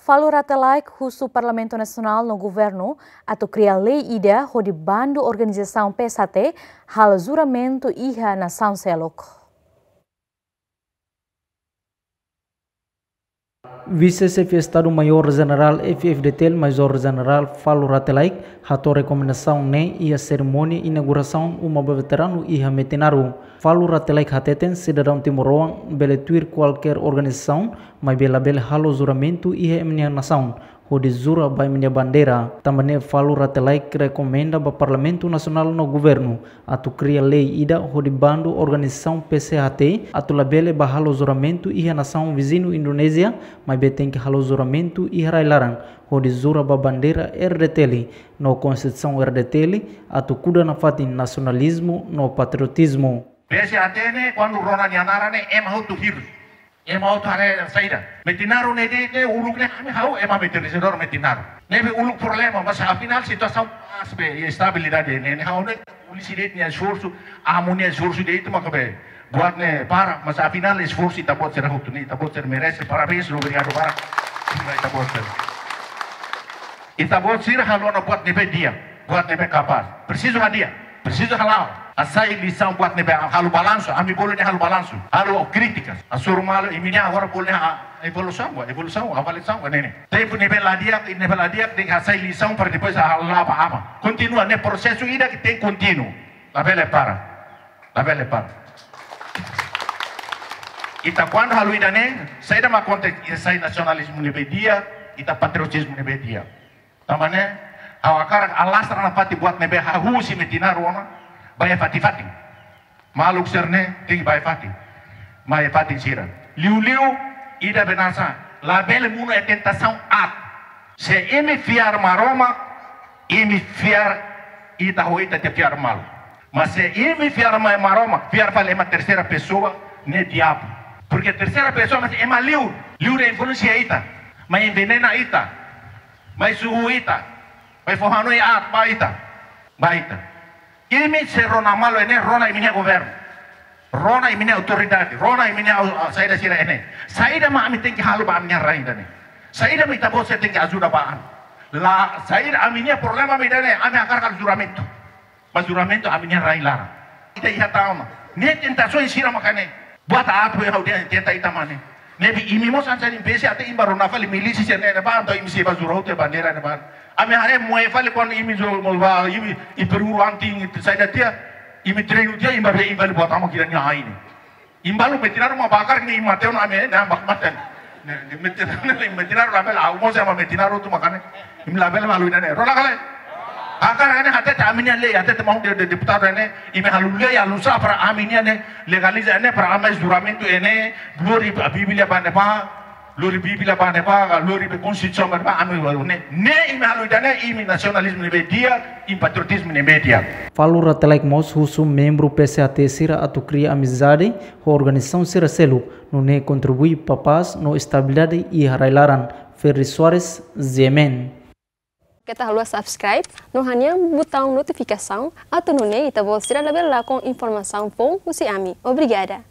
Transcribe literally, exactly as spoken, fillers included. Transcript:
Falur Rate Laek husu Parlamentu Nasionál no Governu atu kria lei ida hodi bandu organizasaun P S H T halo juramentu iha nasaun seluk. Vise-Xefe Estadu Maiór Jenerál F-FDTL, Major Jenerál Falur Rate Laek, hato'o rekomendasaun ne'e iha serimónia inaugurasaun uma ba veteranu iha Metinaro. Falur Rate Laek hateten sidadaun timoroan bele tuir kualkér organizasaun, maibé labele halo juramentu iha ema nia nasaun hodi jura ba ema nia bandeira. Tanba ne'e Falur Rate Laek rekomenda ba Parlamentu Nasionál no Governu atu kria lei ida hodi bandu organizasaun P S H T atu labele ba halo juramentu iha nasaun viziñu Indonézia, maibé tenke halo juramentu iha rai-laran hodi jura ba bandeira R D T L no Konstituisaun R D T L atu kuda nafatin nasionalizmu no patriotizmu. P S H T ne'e, kuandu rona nia naran ne'e, ema hotu hirus. Ema hotu haree saida. Metinaro ne'e de'it ne'e, uluk ne'e, ami ha'u ema metinizadór Metinaro. Ne'ebé uluk problema, mas afinál situasaun pás be, estabilidade ne'e, ne'e ha'u ne'e, polísia de'it nia esforsu, amu nia esforsu de'it maka be buat ne'e para, mas afinál esforsu ita-boot sira hotu ne'e, ita-boot sira merese, parabéns, obrigadu barak. Sira ita-boot sira. Ita-boot sira halo ona buat ne'ebé di'ak, buat ne'ebé kapás. Presiza hadi'a, presiza hala'o. Hasai lisaun buat ne'ebé halo balansu, ami bolu ne'e halo balansu. Halo krítikas, hasoru malu, imi-nia agora bolu ne'e, ah, evolusaun, evolusaun, avaliasaun, ne'e ne'e. Tempu ne'ebé la di'ak, ne'ebé la di'ak, tenke hasai lisaun para depois hala'o ba aban. Kontinua, ne'e prosesu ida ke tenke kontinu. Labele para. Labele para. Ita kuandu halo ida-ne'e, saida mak akontese, ita sai nasionalizmu ne'ebé di'ak, ita patriotizmu ne'ebé di'ak. Tanba ne'e, ha'u hakarak alastra nafatin buat ne'ebé hahú husi Metinaro ona, ba iha fatin-fatin. Maluk sira-ne'e, tenke ba iha fatin. Ba iha fatin sira. Liuliu, ida be hanesan, labele monu iha tentasaun aat. Se imi fiar Maromak, imi fiar ita ho ita-nia fiar malu. Mas se imi fiar mai Maromak, fiar fali ema terseira pesoa, ne'e diabu. Porke terseira pesoa mak ema liur, liur influensia ita, mai envenena ita, mai suhu ita, mai fó hanoin aat ba ita, ba ita. Imi se rona malu iha ne'e, rona imi-nia governu. Rona imi-nia autoridade, rona imi-nia au-, au-, saida sira iha ne'e. Saida mak ami tenke halo ba ami-nia rain ida-ne'e. Saida mak ita-boot sira tenke ajuda ba ami. La, saida ami-nia problema mak ida-ne'e, ami hakarak halo juramentu. Mas juramentu ami-nia rai-laran. Ita iha tauna. Ne'e tentasaun sira maka ne'e. Buat aat be ha'u dehan tenta ita mak ne'e. Ne'ebé imi mós hanesan P S H T imi bá rona fali milísia sira ne'e, ne'ebá entaun imi sei bá jura hotu bandeira ne'ebá. Ami haree moe fali kuandu imi jura moe ba imi, imi peru ranting, imi saida tiha, imi treinu tiha, imi bá be imi fali buat amu kira nia aine. Imi balu Metinaro mak baku hakarak ne'e imi mate ona ami ne'e, ne'e baku mate. Ne'e, ne'e Metinaro, ne'e Metinaro labele, ha'u mós ema Metinaro hotu maka ne'e. Imi labele malu ida-ne'e. Rona ka lae? Hakarak ne'e hatete ami-nia lei, hatete maun de, de, deputadu ne'e, imi halo lei, halo sá para ami-nia ne'e, legaliza ne'e para ami juramentu ne'e, lori Bíblia ba ne'ebá, lori Bíblia ba ne'ebá, lori be Konstituisaun ba ne'ebá, ami halo ne'e. Ne'e imi halo ida-ne'e, imi nasionalizmu ne'ebé di'ak, imi patriotizmu ne'ebé di'ak. Falur Rate Laek mós husu membru P S H T sira atu kria amizade ho organizasaun sira seluk, nune'e kontribui ba pás no estabilidade iha rai-laran. Ferry Soares, G M N. Keta haluha subscribe no hanehan butaun notifikasaun, atu nune'e ita-boot sira labele lakon informasaun foun husi ami. Obrigada.